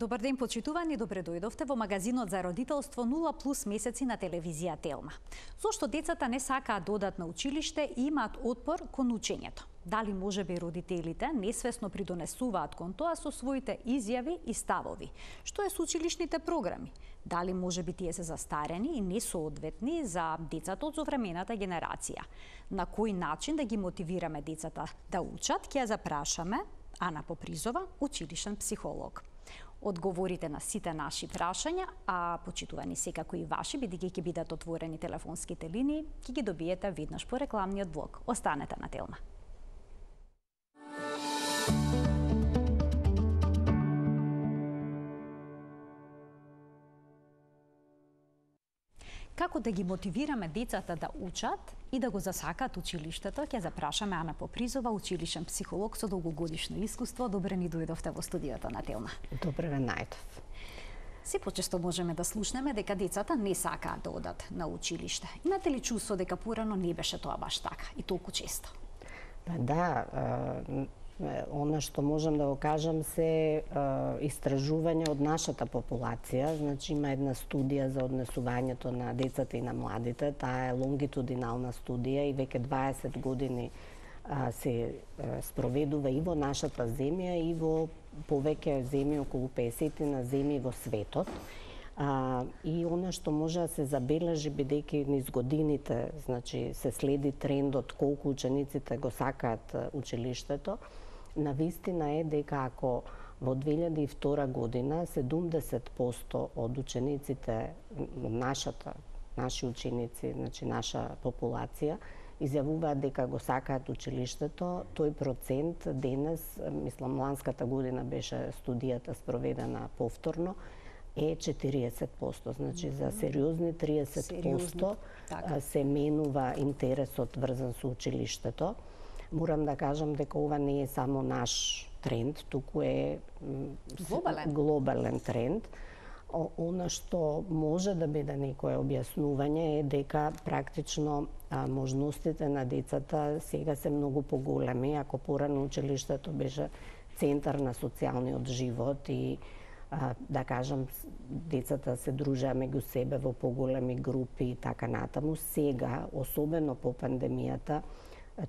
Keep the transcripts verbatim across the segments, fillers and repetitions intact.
Добар ден, почитувани, добре дојдовте во магазинот за родителство нула плюс месеци на телевизија Телма. Зошто децата не сакаат да одат на училиште и имаат отпор кон учењето? Дали можеби родителите несвесно придонесуваат кон тоа со своите изјави и ставови? Што е со училишните програми? Дали можеби тие се застарени и несоодветни за децата од современата генерација? На кој начин да ги мотивираме децата да учат, ќе ја запрашаме Ана Попризова, училишен психолог. Одговорите на сите наши прашања, а почитувани секако и ваши, бидејќи ќе бидат отворени телефонските линии, ќе ги добиете веднаш по рекламниот блок. Останете на Телма. Како да ги мотивираме децата да учат и да го засакаат училиштето, ќе запрашаме Ана Попризова, училишен психолог со долгогодишно искуство. Добре ни дојдовте во студиото на Телма. Добре ве најдов. Се почесто можеме да слушнеме дека децата не сакаат да одат на училиште. Имате ли чувство дека порано не беше тоа баш така и толку често? Да, она што можам да го кажам се истражување од нашата популација. Значи има една студија за однесувањето на децата и на младите. Таа е лонгитудинална студија и веќе дваесет години се спроведува и во нашата земја и во повеќе земји, околу песет на земји во светот. А, и она што може да се забележи, бидејќи низ годините, значи, се следи трендот колку учениците го сакаат училиштето, навистина е дека ако во две илјади и втора година седумдесет проценти од учениците, нашата, наши ученици, значи наша популација, изјавуваат дека го сакаат училиштето, тој процент денес, мислам, ланската година беше студијата спроведена повторно, е четириесет проценти. Значи, за сериозни триесет проценти се менува интересот врзан со училиштето. Морам да кажам дека ова не е само наш тренд, туку е глобален, глобален тренд. Она што може да биде некое објаснување е дека практично а, можностите на децата сега се многу поголеми. Ако порано училиштето беше центар на социјалниот живот и а, да кажам, децата се дружеа меѓу себе во поголеми групи и така натаму, сега, особено по пандемијата,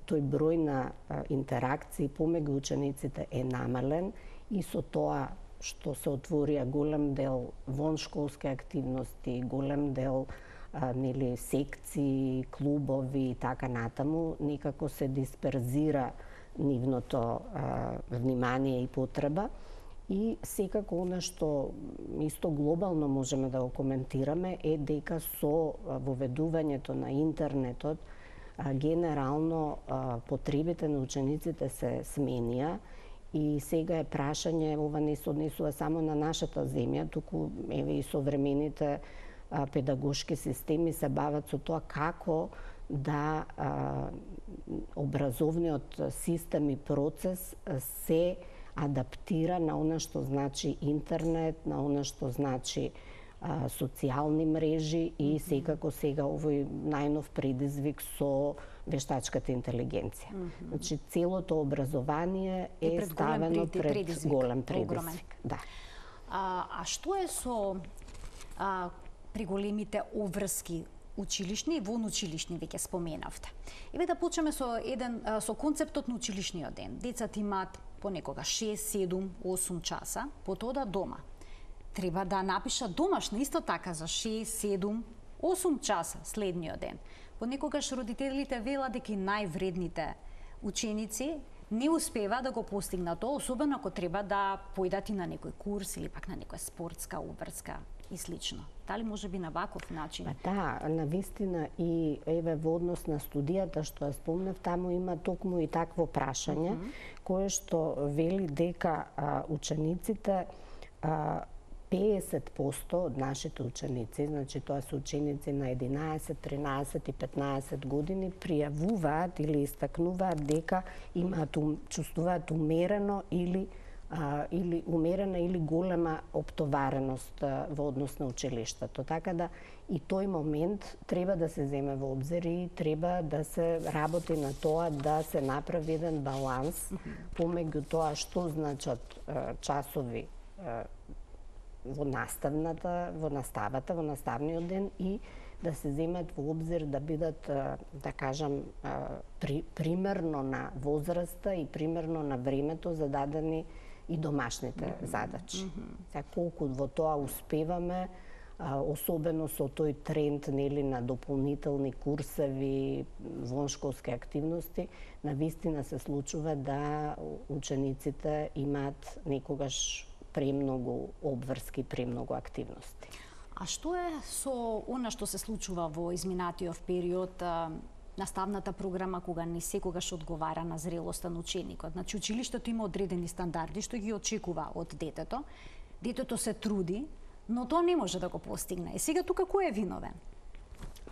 тој број на интеракции помеѓу учениците е намален и со тоа што се отворија голем дел воншколски активности, голем дел а, нели секции, клубови и така натаму, некако се дисперзира нивното а, внимание и потреба. И секако она што исто глобално можеме да го коментираме е дека со воведувањето на интернетот генерално потребите на учениците се сменија и сега е прашање, ова не се однесува само на нашата земја, туку еве и современите педагошки системи се бават со тоа како да образовниот систем и процес се адаптира на она што значи интернет, на она што значи а, социјални мрежи и секако сега овој најнов предизвик со вештачката интелигенција. Mm -hmm. Значи целото образование е, е ставено пред предизвик, голем предизвик. Да. А, а што е со а, преголемите обврски училишни и вонучилишни, веќе споменавте? Еве да почнеме со еден со концептот на училишниот ден. Децата имаат понекога шест, седум, осум часа, потоа да дома. Треба да напишат домашно исто така за шест, седум, осум часа следниот ден. Понекогаш родителите велат дека највредните ученици не успева да го постигнат тоа, особено ако треба да појдат и на некој курс или пак на некоја спортска обврска и слично. Дали може би на ваков начин? Да, навистина и еве во однос на студијата што ја спомнав, таму има токму и такво прашање, mm -hmm. кое што вели дека а, учениците а, педесет проценти од нашите ученици, значи тоа се ученици на единаесет, тринаесет и петнаесет години, пријавуваат или истакнуваат дека имаат чувствуваат умерено или а, или умерена или голема оптовареност а, во однос на училиштето. Така да и тој момент треба да се земе во обзир и треба да се работи на тоа да се направи еден баланс помеѓу тоа што значат а, часови а, во наставната, во наставата, во наставниот ден и да се земат во обзир да бидат, да кажам, при, примерно на возраста и примерно на времето зададени и домашните mm -hmm. задачи. Mm -hmm. Сега, колку во тоа успеваме, особено со тој тренд нели на дополнителни курсеви, воншколски активности, навистина се случува да учениците имаат некогаш премногу обврски, премногу активности. А што е со она што се случува во изминатиот период, наставната програма кога не секогаш одговара на зрелоста на ученикот? Значи, училиштето има одредени стандарди што ги очекува од детето. Детето се труди, но тоа не може да го постигне. И сега тука кој е виновен?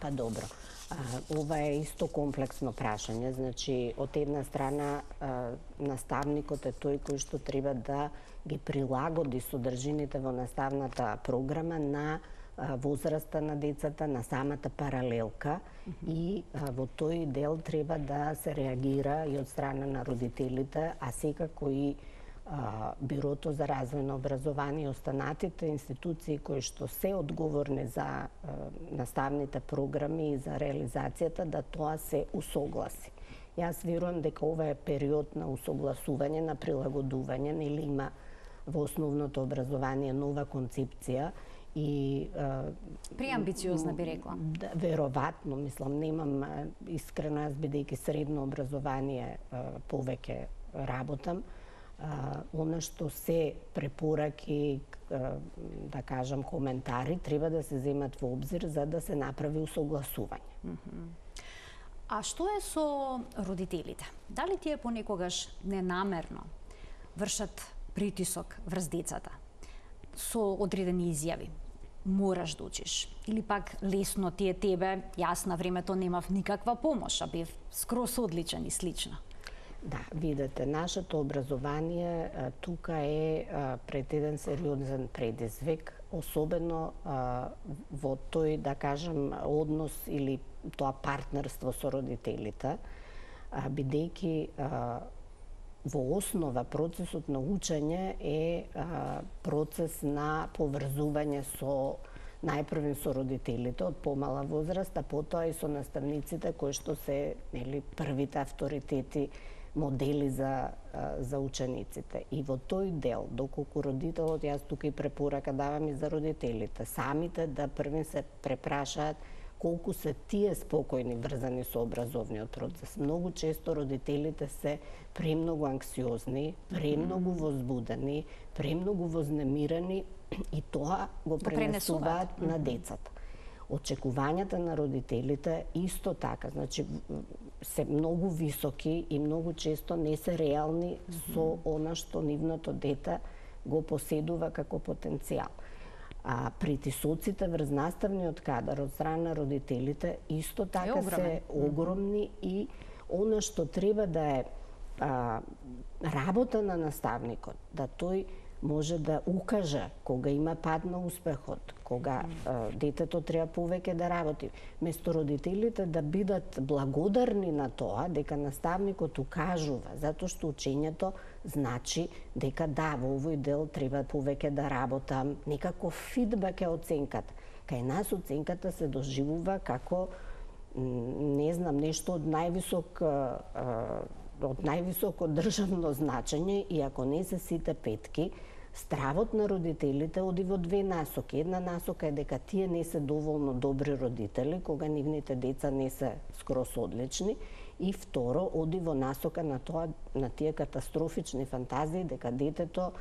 Па добро. А, ова е исто комплексно прашање. Значи, од една страна, а, наставникот е тој кој што треба да ги прилагоди содржините во наставната програма на а, возраста на децата, на самата паралелка mm -hmm. и а, во тој дел треба да се реагира и од страна на родителите, а секако и Бирото за развојно образование и останатите институции кои што се одговорни за наставните програми и за реализацијата, да тоа се усогласи. Јас верувам дека ова е период на усогласување, на прилагодување, нели има во основното образование нова концепција и преамбициозна би рекла. Да, веројатно, мислам, немам искрено, јас бидејќи средно образование повеќе работам. Uh, она што се препораки, uh, да кажам, коментари, треба да се земат во обзир за да се направи усогласување. Mm -hmm. А што е со родителите? Дали тие понекогаш ненамерно вршат притисок врз децата со одредени изјави? Мораш да учиш. Или пак лесно ти е тебе, јас на времето немав никаква помош, а бев скрос одличен и слично. Да, видете, нашето образование а, тука е а, пред еден сериозен предизвик, особено а, во тој, да кажем, однос или тоа партнерство со родителите, а, бидејќи а, во основа процесот на учење е а, процес на поврзување со најпрвен со родителите од помала возраст, а потоа и со наставниците кои што се, нели, првите авторитети, модели за, за учениците. И во тој дел, доколку родителот, јас тука и препорака давам и за родителите, самите да првен се препрашаат колку се тие спокојни врзани со образовниот процес. Многу често родителите се премногу анксиозни, премногу возбудени, премногу вознемирени и тоа го пренесуваат на децата. Очекувањата на родителите исто така, значи се многу високи и многу често не се реални mm -hmm. со она што нивното дете го поседува како потенцијал. А притисоците врз наставниот кадар од страна на родителите исто така се огромни mm -hmm. и она што треба да е а, работа на наставникот, да тој може да укаже кога има пад на успехот, кога а, детето треба повеќе да работи. Место родителите да бидат благодарни на тоа дека наставникот укажува, затоа што учењето значи дека да, во овој дел треба повеќе да работам, некако фидбек е оценката. Кај нас оценката се доживува како, не знам, нешто од највисок од највисоко државно значење и ако не се сите петки, стравот на родителите оди во две насоки. Една насока е дека тие не се доволно добри родители, кога нивните деца не се скрос одлични, и второ, оди во насока на тоа, на тие катастрофични фантазии дека детето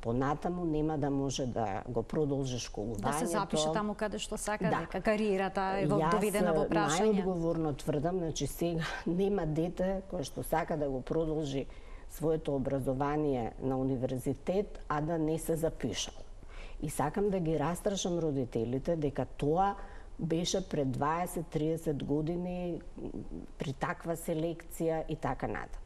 понатаму нема да може да го продолжи школувањето. Да се запише таму каде што сака, да. Дека кариерата е доведена во прашање. Јас најодговорно тврдам, значи сега нема дете кој што сака да го продолжи своето образование на универзитет, а да не се запишал. И сакам да ги растрашам родителите дека тоа беше пред дваесет до триесет години при таква селекција и така натаму.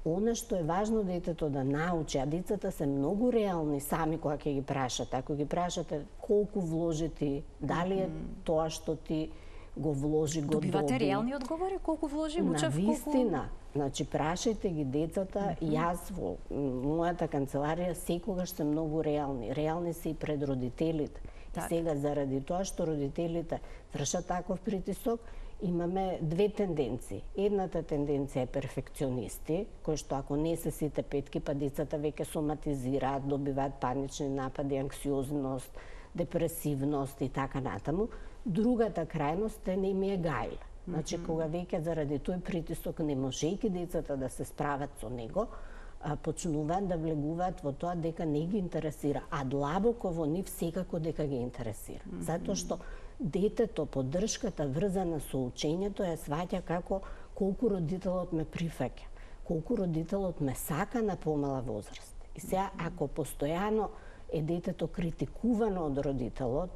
Она што е важно детето да научи, а децата се многу реални сами кога ќе ги прашате. Ако ги прашате колку вложи ти, дали е тоа што ти го вложи, го доби. Добивате реални одговори колку вложи, учев, колку... Навистина, Значи, прашајте ги децата, mm -hmm. Јас во мојата канцеларија секогаш се многу реални. Реални се и пред родителите. Так. И сега, заради тоа што родителите вршат таков притисок, имаме две тенденции. Едната тенденција е перфекционисти, кои што ако не се сите петки, па децата веќе соматизираат, добиваат панични напади, анксиозност, депресивност и така натаму. Другата крајност е не ми е гајле. Значи, mm -hmm. кога веќе заради тој притисок, не можејќи децата да се справат со него, почнуваат да влегуваат во тоа дека не ги интересира, а длабоко во нив секако дека ги интересира. Mm -hmm. Затоа што детето, поддршката врзана со учењето ја сваќа како колку родителот ме прифаќа, колку родителот ме сака на помала возраст. И сега, ако постојано е детето критикувано од родителот,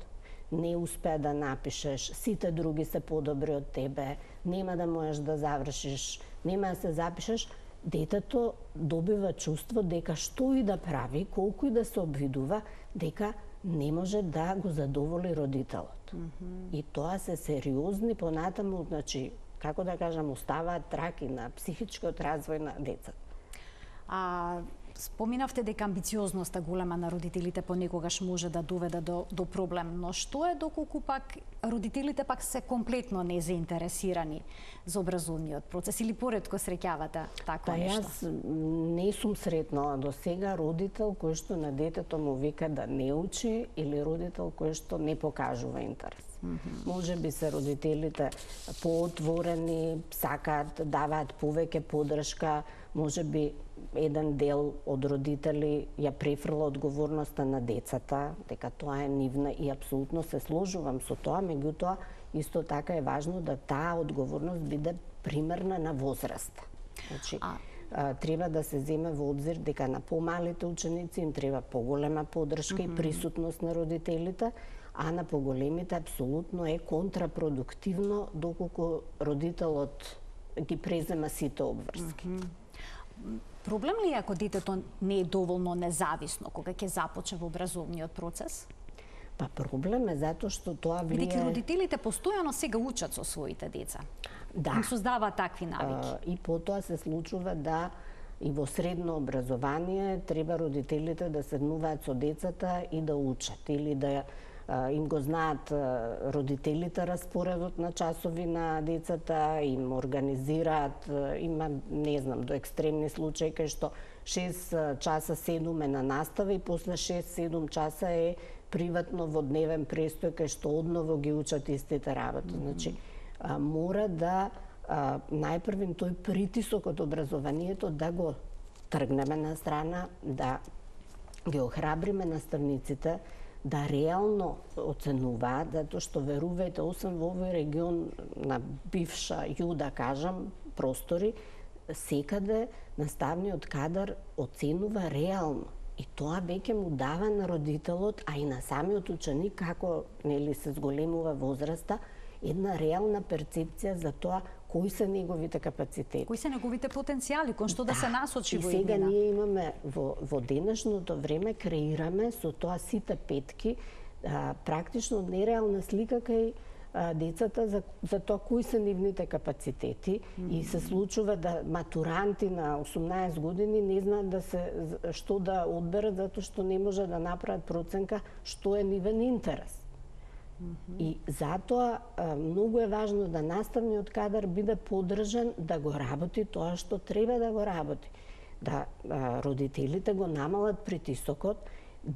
не успеа да напишеш, сите други се подобри од тебе, нема да можеш да завршиш, нема да се запишеш, детето добива чувство дека што и да прави, колку и да се обвидува, дека не може да го задоволи родителот. Mm -hmm. И тоа се сериозни понатаму, значи, како да кажам, оставаат траки на психичкиот развој на децата. А споминавте дека амбициозноста голема на родителите понекогаш може да доведе до, до проблем, но што е доколку пак родителите пак се комплетно незаинтересирани за образовниот процес или поретко среќавате такво па, нешто? Јас не сум сретнала до сега родител кој што на детето му вика да не учи или родител кој што не покажува интерес. Mm -hmm. Може би се родителите поотворени, сакаат, даваат повеќе поддршка, може би еден дел од родители ја префрла одговорноста на децата, дека тоа е нивна и апсолутно се сложувам со тоа, меѓутоа исто така е важно да таа одговорност биде примерна на возраста. Значи, а... а, треба да се земе во обзир дека на помалите ученици им треба поголема поддршка mm -hmm. и присутност на родителите, а на поголемите апсолутно е контрапродуктивно доколку родителот ги презема сите обврски. Mm -hmm. Проблем ли е ако детето не е доволно независно кога ќе започне образовниот процес? Па проблем е затоа што тоа влие... Бидејќи родителите постојано сега учат со своите деца. Да. Им создаваат такви навики. А, и потоа се случува да и во средно образование треба родителите да седнуваат со децата и да учат или да им го знаат родителите распоредот на часови на децата, им организираат, има, не знам, до екстремни случаи кај што шест часа седум е на настава и после шест седум часа е приватно во дневен престој кај што одново ги учат истите работи. Mm -hmm. Значи, а, мора да а, најпрвим тој притисок од образованието да го тргнеме на страна, да ги охрабриме наставниците да реално оценуваат, затоа што верувајте, освен во овој регион на бивша ју, да кажам, простори, секаде наставниот кадар оценува реално. И тоа веќе му дава на родителот, а и на самиот ученик, како нели се зголемува возраста, една реална перцепција за тоа кои се неговите капацитети. Кои се неговите потенцијали, кон што да, да се насочи во иднина. И сега ние имаме во, во денешното време креираме со тоа сите петки а, практично нереална слика кај а, децата за, за тоа кои се нивните капацитети. Mm -hmm. И се случува да матуранти на осумнаесет години не знаат да се што да одберат затоа што не може да направат проценка што е нивен интерес. Mm-hmm. И затоа многу е важно да наставниот кадар биде поддржан да го работи тоа што треба да го работи. Да а, родителите го намалат притисокот,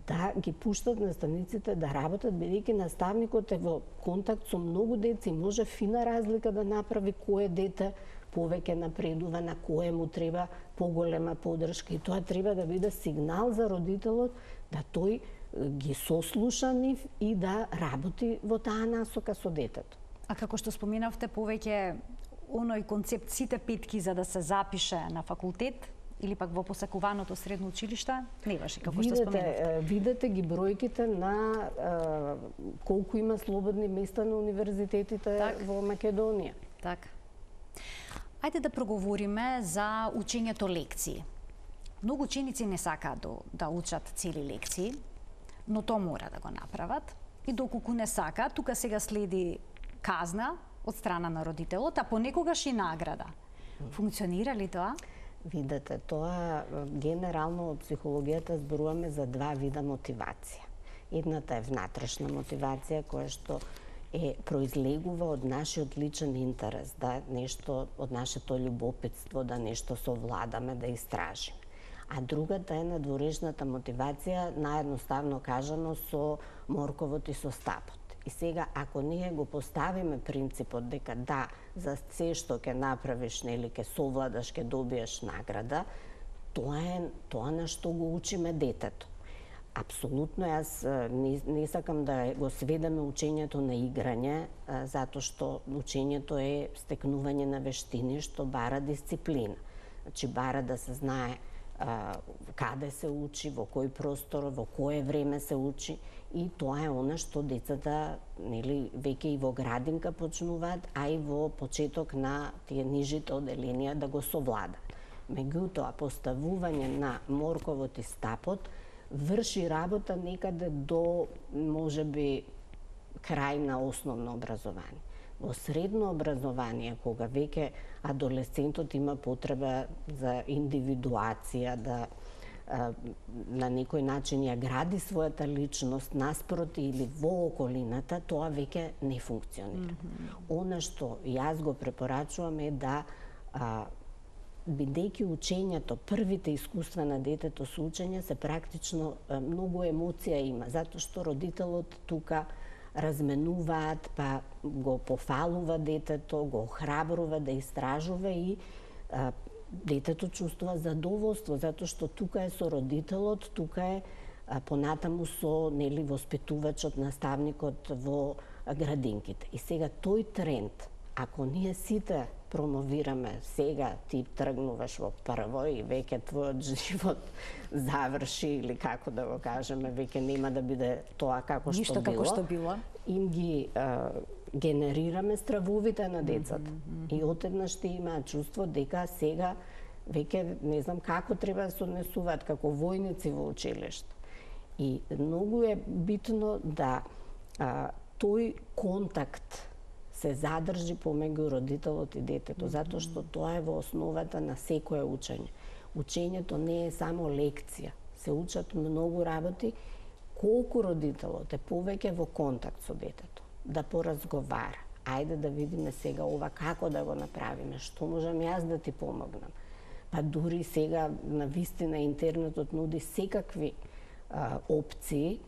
да ги пуштат наставниците да работат, бидејќи наставникот е во контакт со многу деца и може фина разлика да направи кое дете повеќе напредува, на кое му треба поголема поддршка. И тоа треба да биде сигнал за родителот да тој ги сослуша нив и да работи во таа насока со детето. А како што споменавте повеќе оној концепт сите петки за да се запише на факултет или пак во посакуваното средно училиште, не важи како видете, што споменавте. Видете ги бројките на а, колку има слободни места на универзитетите так. Во Македонија. Така. Ајде да проговориме за учењето лекции. Многу ученици не сакаат да, да учат цели лекции, но тоа мора да го направат. И доколку не сакаат, тука сега следи казна од страна на родителот, а понекогаш и награда. Функционира ли тоа? Видете, тоа генерално од психологијата зборуваме за два вида мотивација. Едната е внатрешна мотивација која што е произлегува од нашиот личен интерес, да нешто од нашето љубопитство, да нешто совладаме, да истражиме. А другата е надворешната мотивација, наедноставно кажано со морковот и со стапот. И сега, ако ние го поставиме принципот дека да, за се што ќе направиш, нели, ќе совладаш, ќе добиеш награда, тоа е тоа на што го учиме детето. Апсолутно, јас не, не сакам да го сведеме учењето на играње, затоа што учењето е стекнување на вештини што бара дисциплина. Значи, бара да се знае а, каде се учи, во кој простор, во кое време се учи, и тоа е она што децата, нели, веќе и во градинка почнуваат, а и во почеток на тие нижите оделенија да го совладат. Меѓутоа, поставување на морковот и стапот врши работа некаде до, можеби, крај на основно образование. Во средно образование, кога веќе адолесцентот има потреба за индивидуација, да на некој начин ја гради својата личност наспроти или во околината, тоа веќе не функционира. Mm-hmm. Она што јас го препорачувам е да, а, бидејќи учењето, првите искуства на детето со учење се практично а, многу емоција има, затоа што родителот тука разменуваат, па го пофалува детето, го охрабрува да истражува и а, детето чувствува задоволство, затоа што тука е со родителот, тука е а, понатаму со, нели, воспитувачот, наставникот во градинките. И сега тој тренд, ако ние сите промовираме, сега ти тргнуваш во прво и веќе твојот живот заврши, или како да го кажеме, веќе нема да биде тоа како што Ништо било. како што било. Им ги а, генерираме стравовите на децата. Mm-hmm. И отеднаш ще имаат чувство дека сега веќе не знам како треба да се однесуваат како војници во училиште. И многу е битно да а, тој контакт се задржи помеѓу родителот и детето, mm-hmm. затоа што тоа е во основата на секое учење. Учењето не е само лекција, се учат многу работи, колку родителот е повеќе во контакт со детето, да поразговара. Ајде да видиме сега ова како да го направиме, што можам јас да ти помогнам. Па дури сега на вистина интернетот нуди секакви а, опции,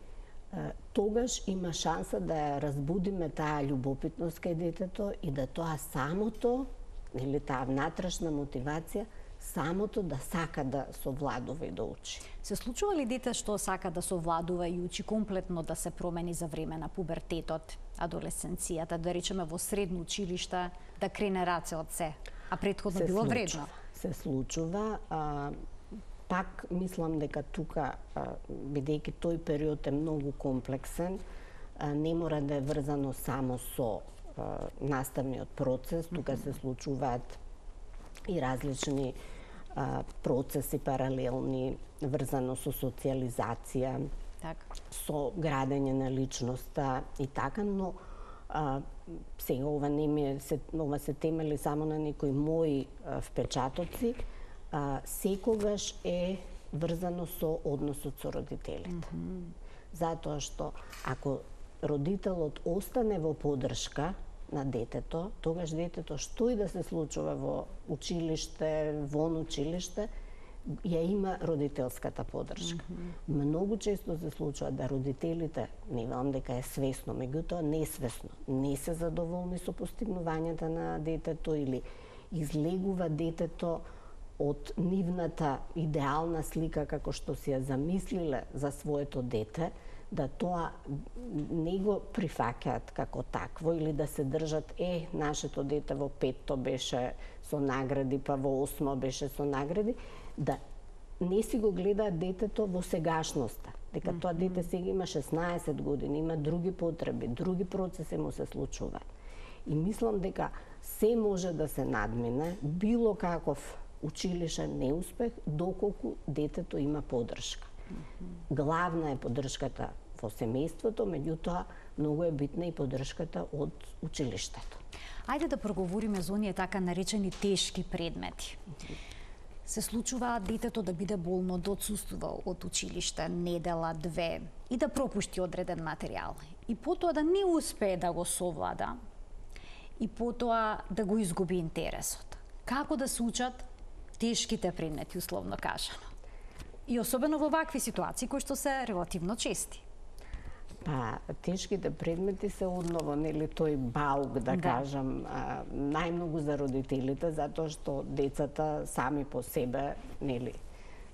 а, тогаш има шанса да ја разбудиме таа љубопитност кај детето и да тоа самото, или таа внатрешна мотивација, самото да сака да совладува и да учи. Се случува ли дете што сака да совладува и учи комплетно да се промени за време на пубертетот, адолесценцијата, да речеме во средно училиште, да крене раце од се, а претходно се било случува, вредно? Се случува, а, пак мислам дека тука, а, бидејќи тој период е многу комплексен, а, не мора да е врзано само со а, наставниот процес, тука се случуваат и различни а, процеси паралелни, врзано со социјализација, Так. со градење на личноста и така, но а, сега ова не ми се, ова се темели само на некои мои а, впечатоци, а, секогаш е врзано со односот со родителите. Mm-hmm. Затоа што ако родителот остане во поддршка на детето, тогаш детето што и да се случува во училиште, вон училиште, ја има родителската поддршка. Mm-hmm. Многу често се случува да родителите, не велам дека е свесно, меѓутоа несвесно, не се задоволни со постигнувањата на детето или излегува детето од нивната идеална слика како што си ја замислиле за своето дете, да тоа не го прифаќаат како такво или да се држат, е, нашето дете во петто беше со награди, па во осмо беше со награди, да не си го гледаат детето во сегашноста, дека тоа дете сега има шеснаесет години, има други потреби, други процеси му се случуваат. И мислам дека се може да се надмине било каков училишен неуспех, доколку детето има поддршка. Главна е поддршката во семејството, меѓутоа многу е битна и поддршката од училиштето. Ајде да проговориме за оние така наречени тешки предмети. Се случува детето да биде болно, да отсуствува од училиште недела, две и да пропушти одреден материјал. И потоа да не успее да го совлада и потоа да го изгуби интересот. Како да се учат тешките предмети, условно кажано? И особено во вакви ситуации кои што се релативно чести. Па, тешките предмети се одново, нели, тој баук, да, да. кажам, а, најмногу за родителите, затоа што децата сами по себе, нели,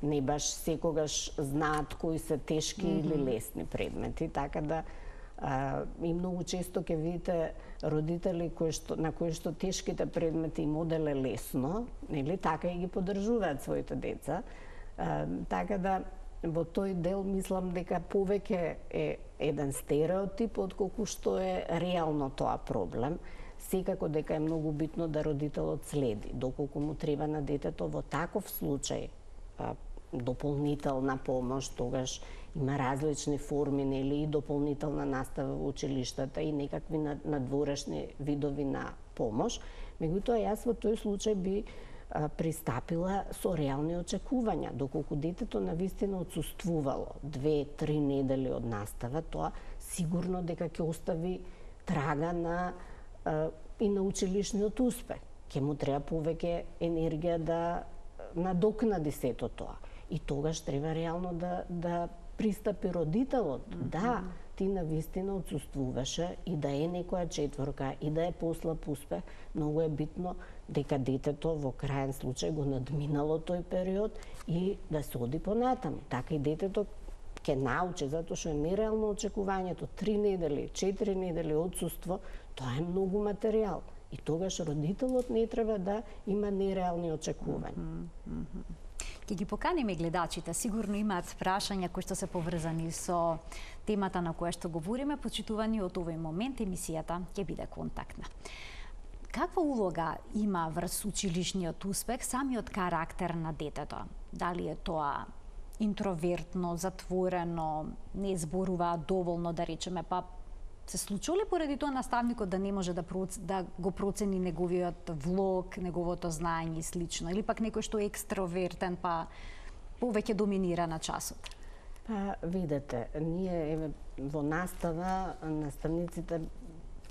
не баш секогаш знаат кои се тешки mm -hmm. или лесни предмети, така да а, и многу често ќе видите родители кои што, на кои што тешките предмети им оделе лесно, нели, така и ги поддржуваат своите деца. А, така да во тој дел мислам дека повеќе е еден стереотип отколку што е реално тоа проблем. Секако дека е многу битно да родителот следи доколку му треба на детето во таков случај а, дополнителна помош, тогаш има различни форми, нели, и дополнителна настава во училиштата и некакви надворешни видови на помош. Меѓутоа јас во тој случај би пристапила со реални очекувања. Доколку детето навистина отсуствувало две-три недели од настава, тоа сигурно дека ќе остави трага на и на училишниот успех. Ќе му треба повеќе енергија да надокнади сето тоа. И тогаш треба реално да да пристапи родителот. Mm -hmm. Да, ти навистина отсуствуваше и да е некоја четворка и да е послаб успех, многу е битно дека детето во крајен случај го надминало тој период и да се оди понатаму. Така и детето ќе научи, затоа што е нереално очекувањето три недели, четири недели отсуство, тоа е многу материјал. И тогаш родителот не треба да има нереални очекувања. Mm -hmm. Ќе ги поканиме гледачите, сигурно имаат прашања кои што се поврзани со темата на која што говориме, почитувани од овој момент емисијата ќе биде контактна. Каква улога има врз училишниот успех самиот карактер на детето? Дали е тоа интровертно, затворено, не зборува доволно, да речеме, па се случува ли поради тоа наставникот да не може да, проц... да го процени неговиот влог, неговото знаење и слично, или пак некој што е екстровертен, па повеќе доминира на часот? Па, видете, ние еве во настава наставниците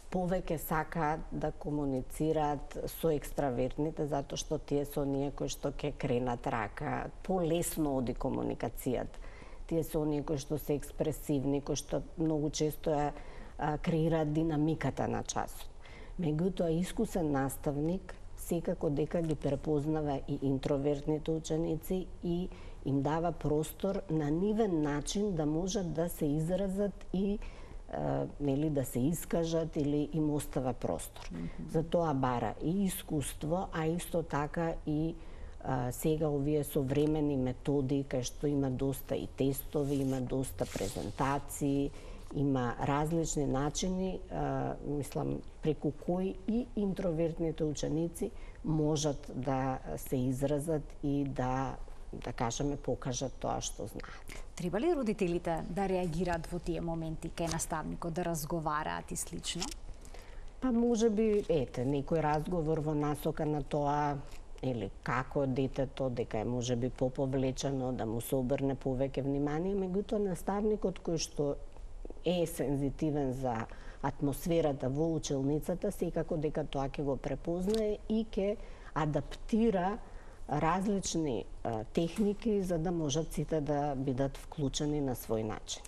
повеќе сакаат да комуницираат со екстравертните, затоа што тие се оние кои што ќе кренат рака, полесно оди комуникацијата. Тие се оние кои што се експресивни, кои што многу често ја креираат динамиката на часот. Меѓутоа, искусен наставник секако дека ги препознава и интровертните ученици и им дава простор на нивен начин да можат да се изразат и Uh, нели, да се искажат или им остава простор. Mm -hmm. За тоа бара и искуство, а исто така и uh, сега овие современи методи кај што има доста и тестови, има доста презентации, има различни начини, uh, мислам, преку кои и интровертните ученици можат да се изразат и да да кажеме, покажат тоа што знаат. Треба ли родителите да реагираат во тие моменти кај наставникот, да разговараат и слично? Па може би, ете, некој разговор во насока на тоа, или како детето, дека е може би поповлечено, да му се обрне повеќе внимание, меѓутоа наставникот кој што е сензитивен за атмосферата во училницата, секако дека тоа ќе го препознае и ќе адаптира различни а, техники за да можат сите да бидат вклучени на свој начин.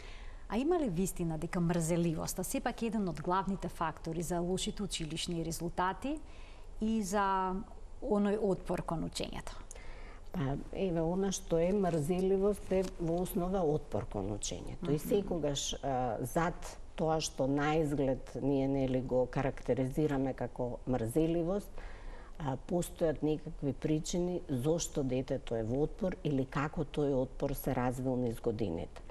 А има ли вистина дека мрзеливоста сепак еден од главните фактори за лошите училишни резултати и за оној отпор кон учењето? Па, еве, она што е мрзеливост е во основа отпор кон учењето. Mm -hmm. И секогаш а, зад тоа што наизглед ние нели го карактеризираме како мрзеливост, а, постојат некакви причини зошто детето е во отпор или како тој отпор се развил низ годините.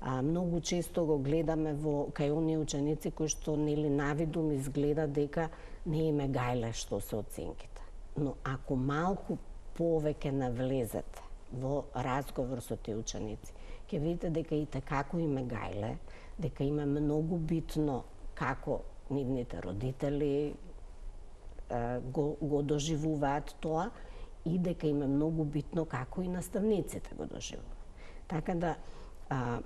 А, многу често го гледаме во кај оние ученици кои што нели навидум изгледа дека не име гајле што се оценките. Но ако малку повеќе навлезете во разговор со тие ученици ќе видите дека и како им е гајле, дека им е многу битно како нивните родители го, го доживуваат тоа и дека им е многу битно како и наставниците го доживуваат. Така да а,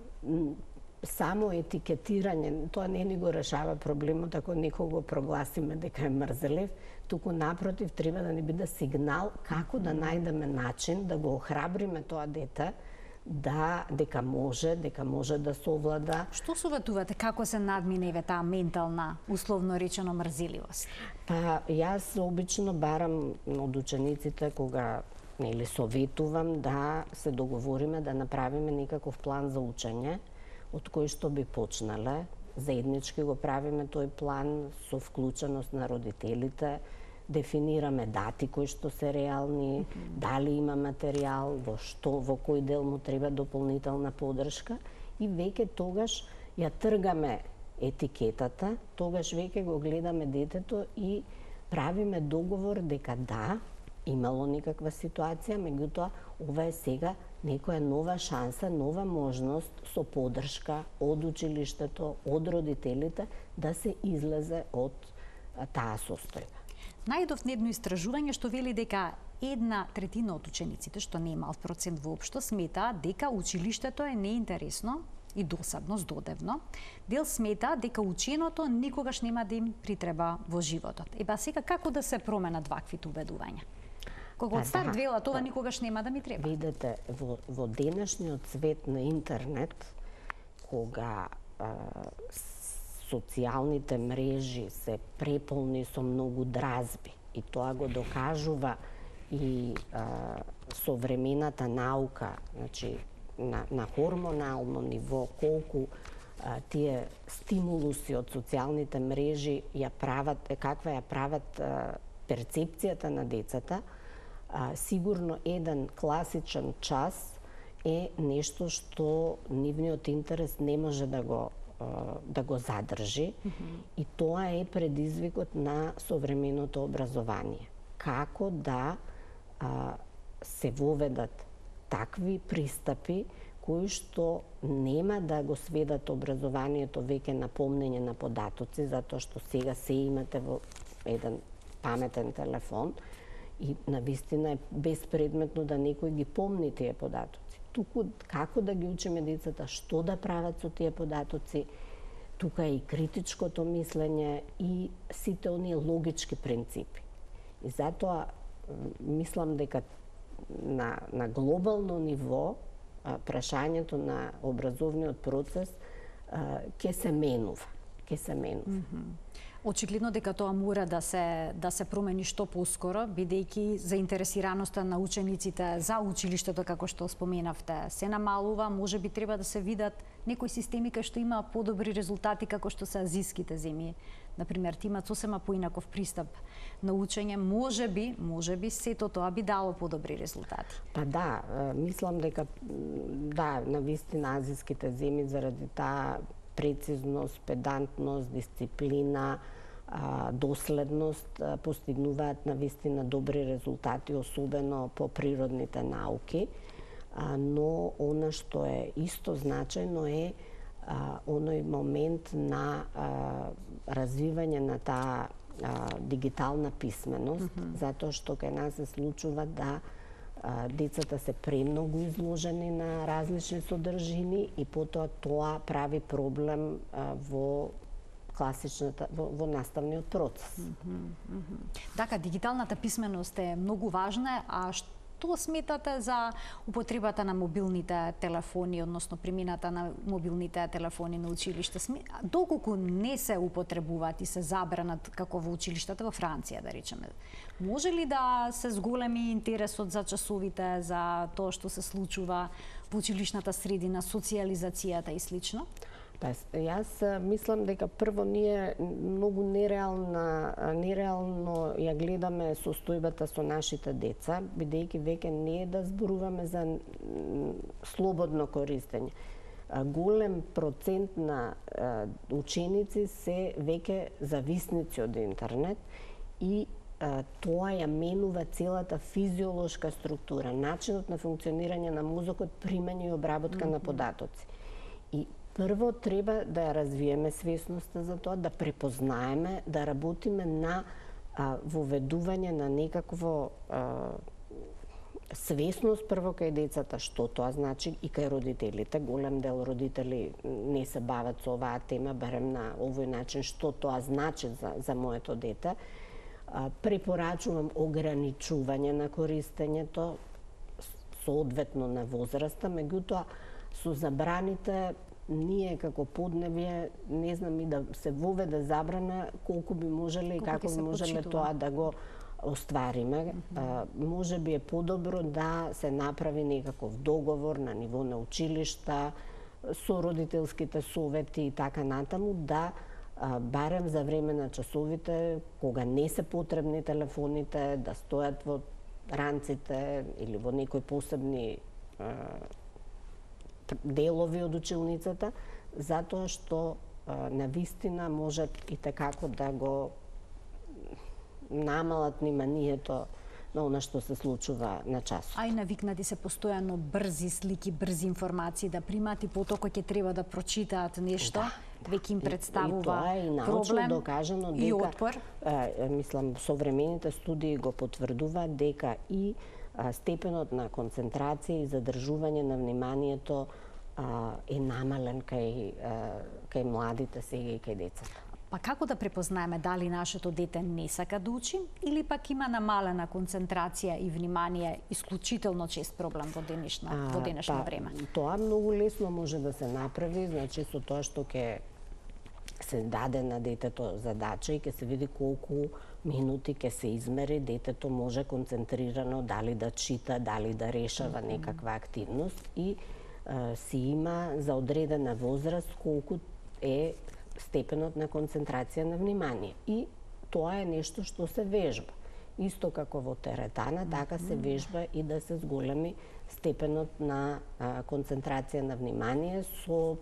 само етикетирање, тоа не ни го решава проблемот ако некој го прогласиме дека е мрзелив, туку напротив треба да ни биде сигнал како да најдеме начин да го охрабриме тоа дете да дека може, дека може да совлада. Што советувате како се надминева таа ментална, условно речено, мрзеливост? Па јас обично барам од учениците кога нели советувам да се договориме да направиме некаков план за учење од кој што би почнале. Заеднички го правиме тој план со вклученост на родителите, дефинираме дати кои што се реални, mm-hmm. дали има материјал, во што, во кој дел му треба дополнителна подршка и веќе тогаш ја тргаме етикетата, тогаш веќе го гледаме детето и правиме договор дека да, имало некаква ситуација, меѓутоа ова е сега некоја нова шанса, нова можност со подршка од училиштето, од родителите да се излезе од таа состојба. Најдов едно истражување што вели дека една третина од учениците, што не е мал процент воопшто, сметаат дека училиштето е неинтересно и досадно, здодевно. Дел смета дека ученото никогаш нема да им притреба во животот. Еба сега како да се променат ваквите убедувања? Кога од старт велат ова никогаш нема да ми треба. Видете, во, во денешниот свет на интернет, кога а, социјалните мрежи се преполни со многу дразби и тоа го докажува и а, современата наука, значи на, на хормонално ниво, колку а, тие стимулуси од социјалните мрежи ја прават, каква ја прават а, перцепцијата на децата, а, сигурно еден класичен час е нешто што нивниот интерес не може да го да го задржи, mm-hmm. и тоа е предизвикот на современото образование. Како да а, се воведат такви пристапи кои што нема да го сведат образованието веќе на помнење на податоци, затоа што сега се имате во еден паметен телефон и навистина е безпредметно да некој ги помни тие податоци. Туку како да ги учиме децата што да прават со тие податоци, тука е и критичкото мислење и сите оние логички принципи. И затоа мислам дека на, на глобално ниво прашањето на образовниот процес ќе се менува, ќе се менува. Mm-hmm. Очигледно дека тоа мора да се да се промени што поскоро, бидејќи заинтересираноста на учениците за училиштето, како што споменавте, се намалува. Можеби треба да се видат некои системи кај што има подобри резултати, како што се азиските земји. Например, имаат сосема поинаков пристап на учење. Можеби, можеби сето тоа би дало подобри резултати. Па да, мислам дека да, навистина азиските земји заради таа прецизност, педантност, дисциплина, доследност постигнуваат навистина добри резултати, особено по природните науки, но она што е исто значајно е оној момент на развивање на таа дигитална писменост, mm-hmm. затоа што кај нас се случува да децата се премногу изложени на различни содржини и потоа тоа прави проблем а, во класичната во, во наставниот процес. Mm-hmm, mm-hmm. Така, дигиталната писменост е многу важна, а што сметате за употребата на мобилните телефони, односно примината на мобилните телефони на училиште? Доколку не се употребуваат и се забранат како во училиштата во Франција, да речеме, може ли да се зголеми интересот за часовите, за тоа што се случува во училишната средина, социјализацијата и слично? Па, јас мислам дека прво ние многу нереална, нереално ја гледаме состојбата со нашите деца, бидејќи веќе не е да зборуваме за слободно користење. Голем процент на ученици се веќе зависници од интернет и тоа ја менува целата физиолошка структура, начинот на функционирање на мозокот, примање и обработка mm -hmm. на податоци. И прво треба да ја развиеме свесноста за тоа, да препознаеме, да работиме на а, воведување на некакво а, свесност прво кај децата, што тоа значи, и кај родителите. Голем дел родители не се бават со оваа тема, барем на овој начин, што тоа значи за, за моето дете. А, препорачувам ограничување на користењето, соодветно на возраста, меѓутоа со забраните ние како подневје не знам и да се воведе забрана колку би можеле и како би можеле тоа да го оствариме. Mm -hmm. а, може би е подобро да се направи некаков договор на ниво на училишта со родителските совети и така натаму, да а, барем за време на часовите, кога не се потребни телефоните, да стојат во ранците или во некои посебни а, делови од училницата, затоа што а, навистина можат и tekako да го намалат вниманието на она што се случува на часот. А и навикнати се постојано брзи слики, брзи информации да примат и потоа кога ќе треба да прочитаат нешто, да, да. веќе им представува проблем и, и тоа е научно докажано дека, и отпор. А, мислам, современите студии го потврдуваат дека и а, степенот на концентрација и задржување на вниманието а, е намален кај, а, кај младите сега и кај децата. Па како да препознаеме дали нашето дете не сака да учи или пак има намалена концентрација и внимание, исклучително чест проблем во денешна а, во денешно па, време? Тоа многу лесно може да се направи, значи со тоа што ќе се даде на детето задача и ќе се види колку минути ќе се измери, детето може концентрирано дали да чита, дали да решава некаква активност и а, си има за одредена возраст колку е степенот на концентрација на внимание. И тоа е нешто што се вежба. Исто како во теретана, така се вежба и да се зголеми степенот на а, концентрација на внимание со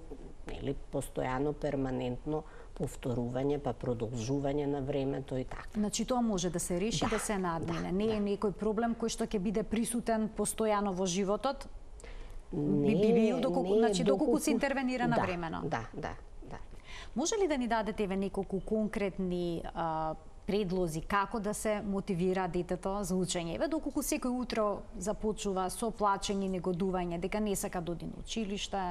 нели, постојано, перманентно повторување, па продолжување на времето и така. Значи тоа може да се реши, да, да се надмине. Да, не е да. некој проблем кој што ќе биде присутен постојано во животот? Не, би бил доколку, не, значи доколку доколку се интервенира да, навремено. Да, да. Може ли да ни дадете еве неколку конкретни а, предлози како да се мотивира детето за учење? Еве доколку секој утро започува со плачење и негодување дека не сака да оди на училиште,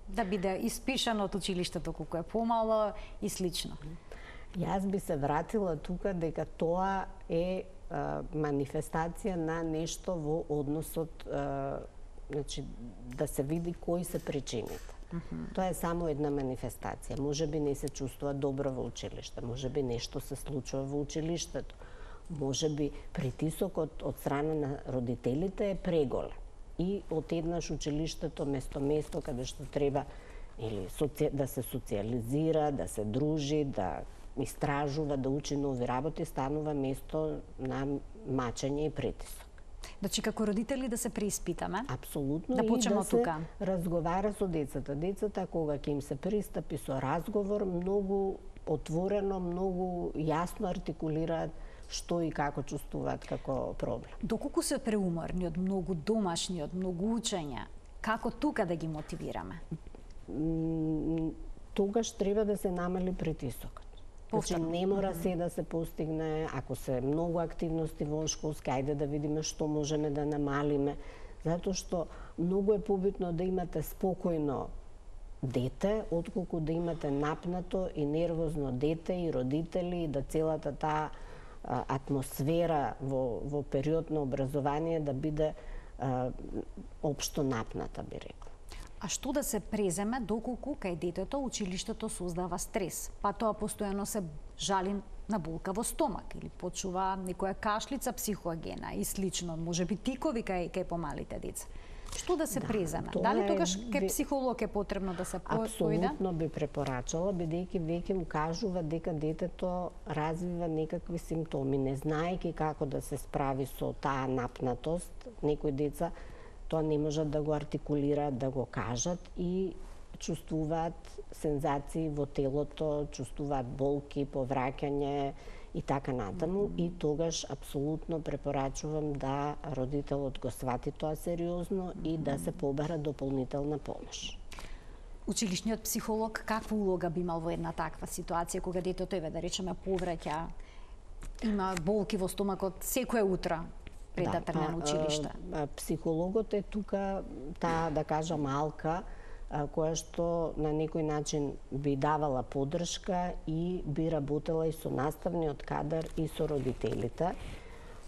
да биде испишан од училиштето колку е помало и слично. Јас би се вратила тука дека тоа е а, манифестација на нешто во односот, а, значи да се види кои се причините. Uh -huh. Тоа е само една манифестација. Може би не се чувствува добро во училиште, може би нешто се случува во училиштето, може би притисокот од страна на родителите е преголем. И отеднаш училиштето место место каде што треба или соци... да се социализира, да се дружи, да истражува, да учи нови работи, станува место на мачење и притисок. Значи, како родители да се преиспитаме? Апсолутно. Да почнеме и да од тука. се разговара со децата. Децата, кога ќе им се пристапи со разговор, многу отворено, многу јасно артикулираат што и како чувствуваат како проблем. Доколку се преуморни од многу домашни, од многу учење, како тука да ги мотивираме? Тогаш треба да се намали притисокот. Значи, не мора се да се постигне, ако се многу активности во школски, ајде да видиме што можеме да намалиме, затоа што многу е побитно да имате спокојно дете, отколку да имате напнато и нервозно дете и родители, и да целата таа атмосфера во, во период на образование да биде а, општо напната, би рекла. А што да се преземе доколку кај детето училиштето создава стрес? Па тоа постојано се жали на болка во стомак или почува некоја кашлица психоагена и слично, можеби тикови кај кај помалите деца. Што да се да, преземе? Дали тогаш кај психолог е потребно да се појде? Апсолутно би препорачала, бидејќи веќе му кажува дека детето развива некакви симптоми, не знаејќи како да се справи со таа напнатост. Некои деца тоа не можат да го артикулираат, да го кажат и чувствуваат сензации во телото, чувствуваат болки, повраќање и така натаму, и тогаш апсолутно препорачувам да родителот го свати тоа сериозно и да се побара дополнителна помош. Училишниот психолог каква улога би имал во една таква ситуација кога детето еве да речеме повраќа, има болки во стомакот секое утро пред да тргне на училиште? Психологот е тука таа, да кажам, малка која што на некој начин би давала поддршка и би работела и со наставниот кадар и со родителите.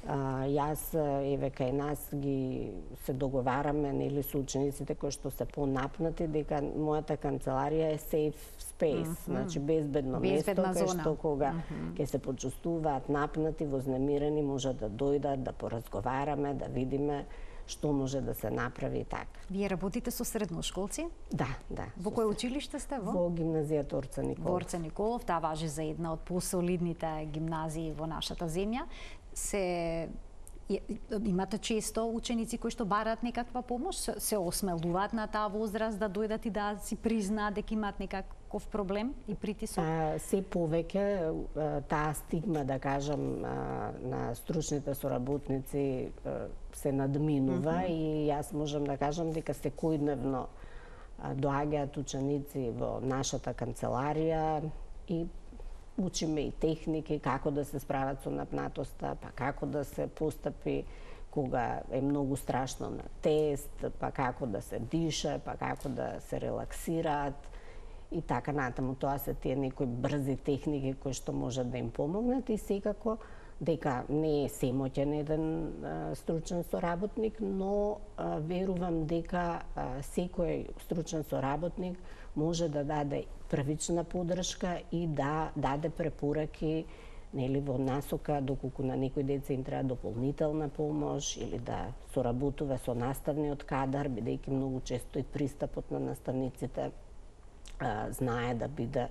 А, јас, еве, кај нас ги се договараме, нели, со учениците кои што се понапнати, дека мојата канцеларија е safe space, mm -hmm. значи безбедно место, кај што кога mm -hmm. ќе се почувствуваат напнати, вознемирени, може да дојдат, да поразговараме, да видиме што може да се направи така. Вие работите со средношколци? Да, да. Во кој училиште сте во? Во гимназијата Орца Николов. Во Орца Николов, таа важи за една од посолидните гимназии во нашата земја. Се имате често ученици кои што бараат некаква помош, се осмелуваат на таа возраст да дојдат и да си признаат дека имаат некаков проблем и притисок? А, се повеќе таа стигма, да кажам, на стручните соработници се надминува mm -hmm. и јас можам да кажам дека секојдневно доаѓаат ученици во нашата канцеларија и учиме и техники како да се справат со напнатоста, па како да се постапи кога е многу страшно на тест, па како да се диша, па како да се релаксираат и така натаму. Тоа се тие некои брзи техники кои што можат да им помогнат и секако дека не е семоќен еден а, стручен соработник, но а, верувам дека а, секој стручен соработник може да даде првична поддршка и да даде препораки, нели, во насока доколку на некои деца им треба дополнителна помош или да соработува со наставниот кадар, бидејќи многу често и пристапот на наставниците а, знае да биде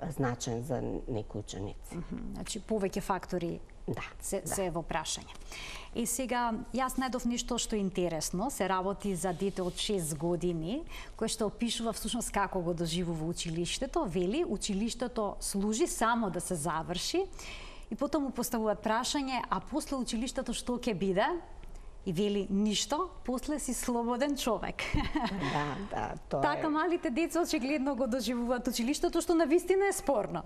значен за некои ученици. Mm -hmm. Значи повеќе фактори да, се, да. се во прашање. И сега, јас најдов нешто што е интересно, се работи за дете од шест години, кој што опишува всушност како го доживува училиштето, вели, училиштето служи само да се заврши, и потом му поставуваат прашање, а после училиштето што ќе биде? И вели, ништо, после си слободен човек. Да, да, тоа Така е... малите деца очигледно го доживуваат училиштето, што навистина е спорно.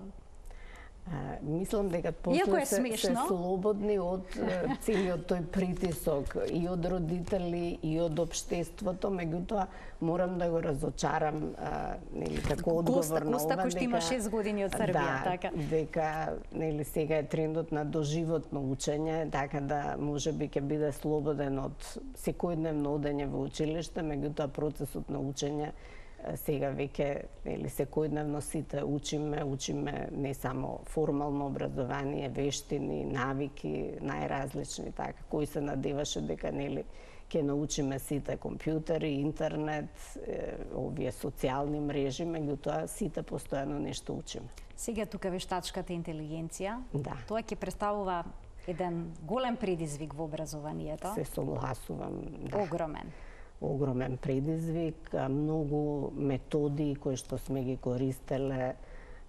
А, мислам дека после се, се слободни од целиот тој притисок и од родители и од општеството, меѓутоа морам да го разочарам, а, нели, како одговор на ова, кој што има шест години од Србија, да, така. дека, нели, сега е трендот на доживотно учење, така да можеби ќе биде слободен од секојдневно одење во училиште, меѓутоа процесот на учење сега веќе, или секојдневно сите учиме, учиме не само формално образование, вештини, навики, најразлични, така, кои се надеваше дека, нели, ќе научиме сите компјутери, интернет, е, овие социјални мрежи, меѓутоа сите постојано нешто учиме. Сега тука вештачката интелигенција, да. Тоа ќе представува еден голем предизвик во образованието. Се согласувам, да. Огромен. Огромен предизвик, многу методи кои што сме ги користеле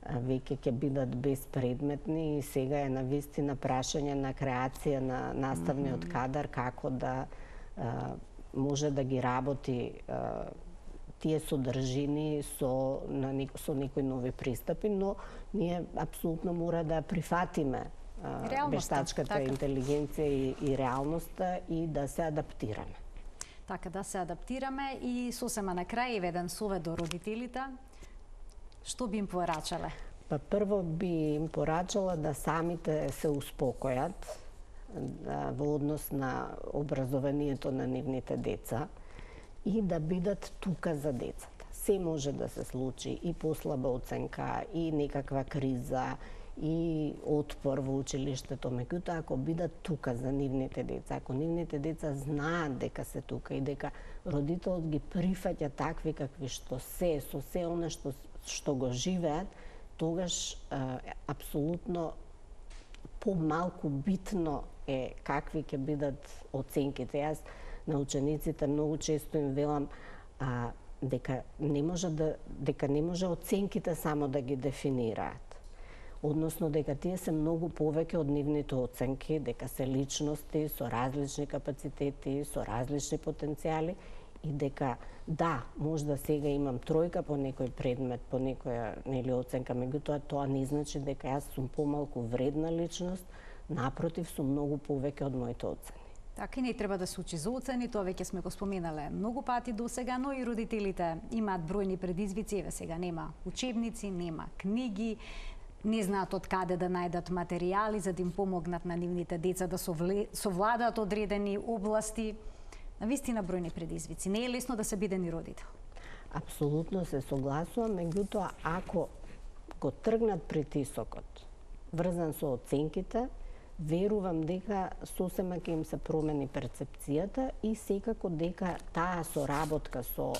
веќе ќе бидат безпредметни и сега е навистина прашање на креација на наставниот mm -hmm. кадар како да а, може да ги работи а, тие содржини со, на, со некои нови пристапи, но ние апсолутно мора да прифатиме а, вештачката така. интелигенција и, и реалноста и да се адаптираме. Така да се адаптираме и сосема на крај еден совет до родителите. Што би им порачале? Па прво би им порачала да самите се успокојат да, во однос на образованието на нивните деца и да бидат тука за децата. Се може да се случи, и послаба оценка, и некаква криза, и отпор во училиштето, меѓутоа ако бидат тука за нивните деца, ако нивните деца знаат дека се тука и дека родителот ги прифаќа такви какви што се, со се она што што го живеат, тогаш а, апсолутно помалку битно е какви ќе бидат оценките. Јас на учениците многу често им велам а, дека не може да дека не може оценките само да ги дефинираат. односно дека тие се многу повеќе од нивните оценки, дека се личности со различни капацитети, со различни потенцијали и дека да, можда сега имам тројка по некој предмет, по некоја нели оценка, меѓутоа тоа не значи дека јас сум помалку вредна личност, напротив, сум многу повеќе од моите оцени. Така и не треба да се учи за оцени, тоа веќе сме го споменале многу пати до сега, но и родителите имаат бројни предизвици, еве сега нема учебници, нема книги, не знаат од каде да најдат материјали за да им помогнат на нивните деца да совладаат одредени области. Навистина бројни предизвици. Не е лесно да се биде ни родител. Апсолутно се согласувам, меѓутоа ако го тргнат притисокот врзан со оценките, верувам дека сосема ќе им се промени перцепцијата и секако дека таа соработка со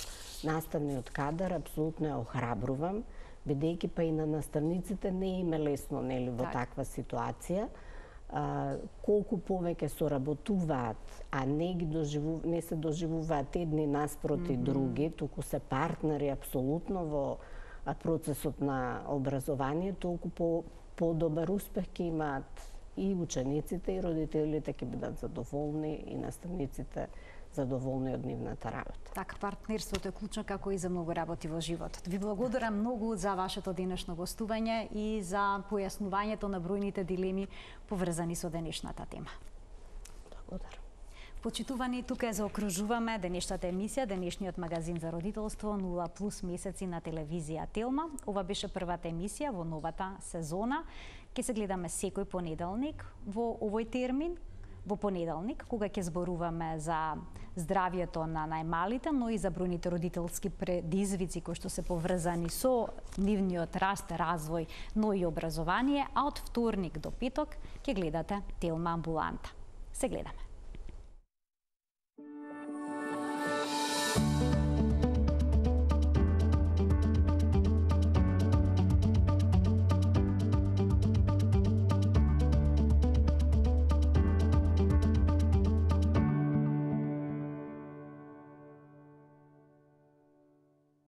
наставниот кадар апсолутно ја охрабрувам, бидејќи па и на наставниците не им е лесно нели во так. таква ситуација. А, колку повеќе соработуваат, а не ги доживу, не се доживуваат едни наспроти mm -hmm. други, туку се партнери апсолутно во процесот на образование, толку по подобар успех ќе имаат и учениците и родителите ќе бидат задоволни и наставниците задоволни од нивната работа. Така, партнерството е клучно како и за многу работи во животот. Ви благодарам многу за вашето денешно гостување и за појаснувањето на бројните дилеми поврзани со денешната тема. Благодарам. Почитувани, тука ја заокружуваме денешната емисија, денешниот магазин за родителство нула плюс месеци на телевизија Телма. Ова беше првата емисија во новата сезона. Ке се гледаме секој понеделник во овој термин, во понеделник, кога ќе зборуваме за здравјето на најмалите, но и за бројните родителски предизвици кои што се поврзани со нивниот раст, развој, но и образование, а од вторник до петок ќе гледате Телма амбуланта. Се гледаме.